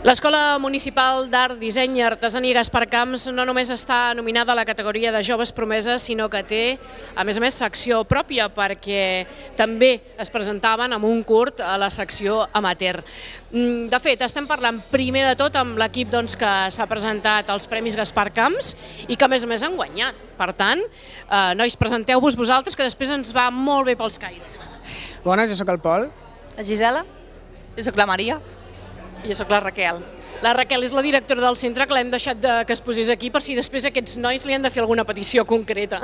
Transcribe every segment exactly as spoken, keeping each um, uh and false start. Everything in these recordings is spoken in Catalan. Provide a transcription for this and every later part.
L'Escola Municipal d'Art, Disseny i Artesania Gaspar Camps no només està nominada a la categoria de Joves Promeses, sinó que té, a més a més, secció pròpia, perquè també es presentaven amb un curt a la secció amateur. De fet, estem parlant primer de tot amb l'equip que s'ha presentat als Premis Gaspar Camps i que, a més a més, han guanyat. Per tant, nois, presenteu-vos vosaltres, que després ens va molt bé pels caires. Bones, jo sóc el Pol. La Gisela. Jo sóc la Maria. I jo sóc la Raquel. La Raquel és la directora del centre, que l'hem deixat que es posés aquí per si després aquests nois li han de fer alguna petició concreta.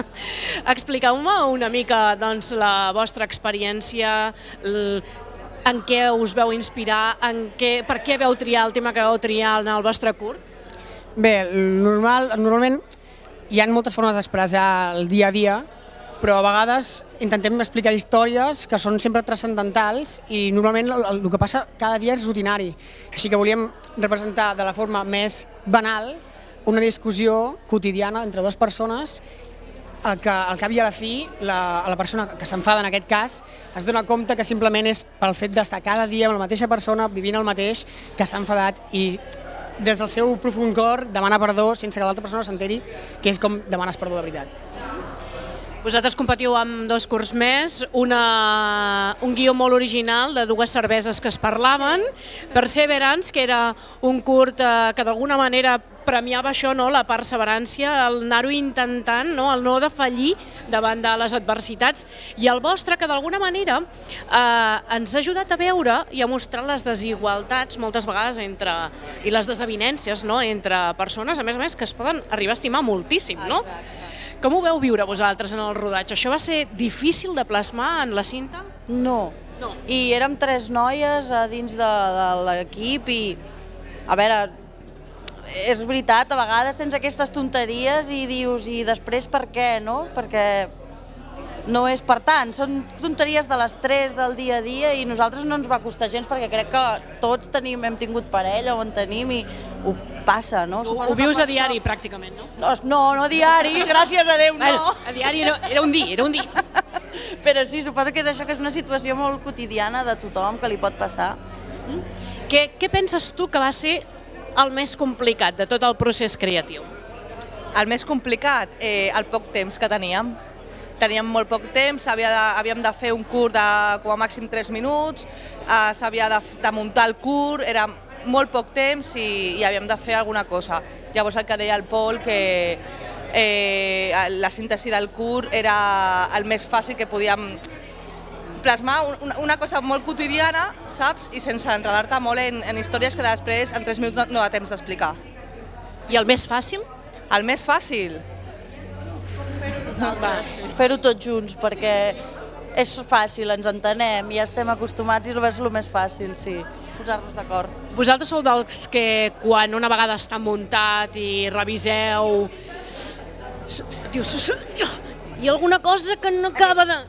Expliqueu-me una mica la vostra experiència, en què us veu inspirar, per què veu triar el tema que veu triar en el vostre curt? Bé, normalment hi ha moltes formes d'expressar el dia a dia, però a vegades intentem explicar històries que són sempre transcendentals i normalment el que passa cada dia és rutinari. Així que volíem representar de la forma més banal una discussió quotidiana entre dues persones que al cap i a la fi la persona que s'enfada en aquest cas es dona compte que simplement és pel fet d'estar cada dia amb la mateixa persona vivint el mateix que s'ha enfadat i des del seu profund cor demana perdó sense que l'altra persona s'enteri que és com demanes perdó de veritat. Vosaltres competiu amb dos curts més, un guió molt original de dues cerveses que es parlaven, Perseverance, que era un curt que d'alguna manera premiava això, la perseverància, el anar-ho intentant, el no defallir davant de les adversitats, i el vostre que d'alguna manera ens ha ajudat a veure i a mostrar les desigualtats moltes vegades i les desavinences entre persones, a més a més, que es poden arribar a estimar moltíssim, no? Com ho veu viure vosaltres en el rodatge? Això va ser difícil de plasmar en la cinta? No. I érem tres noies a dins de l'equip i, a veure, és veritat, a vegades tens aquestes tonteries i dius, i després per què, no? Perquè no és per tant, són tonteries de les tres del dia a dia i nosaltres no ens va costar gens perquè crec que tots hem tingut parella o en tenim i ho passa, no? Ho vius a diari pràcticament, no? No, no a diari, gràcies a Déu, no! A diari era un dia, era un dia. Però sí, suposo que és això, que és una situació molt quotidiana de tothom que li pot passar. Què penses tu que va ser el més complicat de tot el procés creatiu? El més complicat? El poc temps que teníem. Teníem molt poc temps, havíem de fer un curt de com a màxim tres minuts, s'havia de muntar el curt, era molt poc temps i havíem de fer alguna cosa. Llavors el que deia el Pol, que la síntesi del curt era el més fàcil que podíem plasmar una cosa molt quotidiana, saps? I sense enredar-te molt en històries que després en tres minuts no da temps d'explicar. I el més fàcil? El més fàcil? Fer-ho tots junts, perquè és fàcil, ens entenem, ja estem acostumats i és el més fàcil, sí, posar-nos d'acord. Vosaltres sou dels que quan una vegada està muntat i reviseu, dius, hi ha alguna cosa que no acaba de...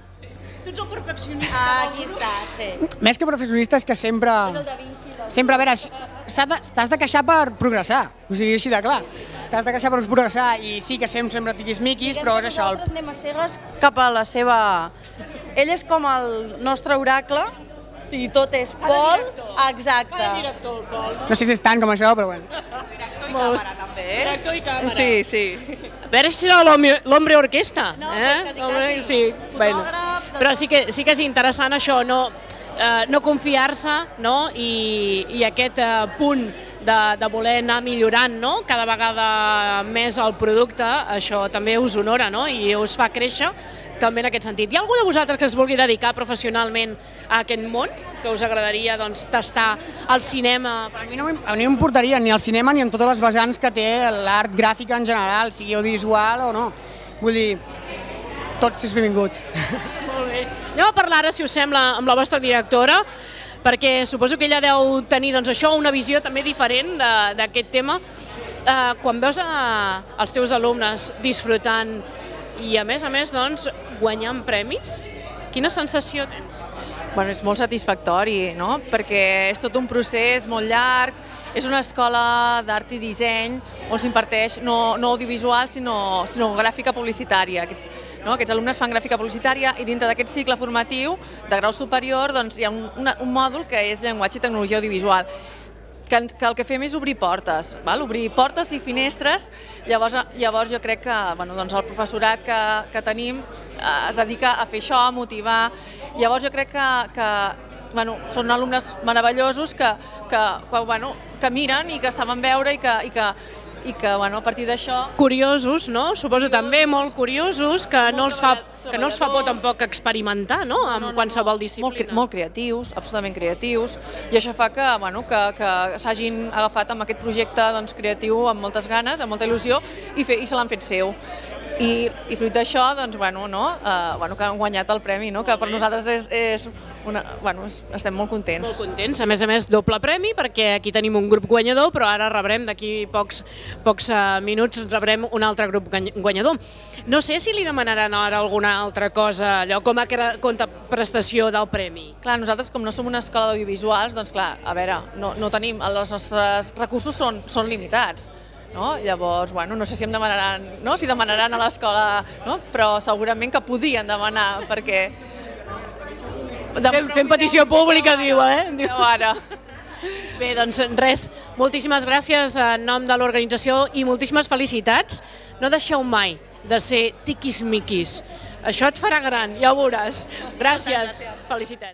Tu ets el perfeccionista. Aquí està, sí. Més que perfeccionista és que sempre... És el Da Vinci. Sempre, a veure, t'has de queixar per progressar, o sigui, així de clar. T'has de queixar per progressar i sí que sempre tiquis-miquis, però és això. Nosaltres anem a cegues cap a la seva... Ell és com el nostre oracle, i tot és Pol, exacte. Cada director, el Pol. No sé si és tant com això, però bueno. Director i càmera, també, eh? Director i càmera. Sí, sí. A veure si serà l'hombre orquesta. No, doncs quasi, quasi. Fotògraf... Però sí que és interessant això, no confiar-se i aquest punt de voler anar millorant cada vegada més el producte, això també us honora i us fa créixer també en aquest sentit. Hi ha algú de vosaltres que es vulgui dedicar professionalment a aquest món, que us agradaria tastar el cinema? A mi no m'importaria ni el cinema ni en totes les vessants que té l'art gràfica en general, sigui audiovisual o no. Vull dir, tot és benvingut. Molt bé. Anem a parlar ara, si us sembla, amb la vostra directora, perquè suposo que ella deu tenir això, una visió també diferent d'aquest tema. Quan veus els teus alumnes disfrutant i a més a més guanyant premis, quina sensació tens? És molt satisfactori, perquè és tot un procés molt llarg, és una escola d'art i disseny on s'imparteix no audiovisual sinó gràfica publicitària. Aquests alumnes fan gràfica publicitària i dintre d'aquest cicle formatiu de grau superior hi ha un mòdul que és llenguatge i tecnologia audiovisual. que, que el que fem és obrir portes, val? Obrir portes i finestres, llavors, llavors jo crec que bueno, doncs el professorat que, que tenim eh, es dedica a fer això, a motivar, llavors jo crec que, que bueno, són alumnes meravellosos que, que, que, bueno, que miren i que saben veure i que, i que, i que bueno, a partir d'això... Curiosos, no? Suposo també molt curiosos, que no els fa, que no els fa por tampoc experimentar, no?, amb qualsevol disciplina. Molt, molt creatius, absolutament creatius, i això fa que, bueno, que, que s'hagin agafat amb aquest projecte doncs, creatiu amb moltes ganes, amb molta il·lusió, i, fer, i se l'han fet seu. I, i fruit d'això, doncs, bueno, no, eh, bueno, que han guanyat el premi, no? Que per nosaltres és, és una, bueno, és, estem molt contents. Molt contents, a més a més doble premi, perquè aquí tenim un grup guanyador, però ara rebrem d'aquí pocs, pocs uh, minuts rebrem un altre grup guanyador. No sé si li demanaran ara alguna altra cosa, allò com a contraprestació del premi. Clar, nosaltres com no som una escola d'audiovisuals, doncs clar, a veure, no, no tenim, els nostres recursos són, són limitats. No? Llavors, bueno, no sé si em demanaran, no? Si demanaran a l'escola, no? Però segurament que podien demanar, perquè... Fem, fem petició pública, diu, eh? Diu ara. Bé, doncs res, moltíssimes gràcies en nom de l'organització i moltíssimes felicitats. No deixeu mai de ser tiquis-miquis. Això et farà gran, ja ho veuràs. Gràcies, felicitats.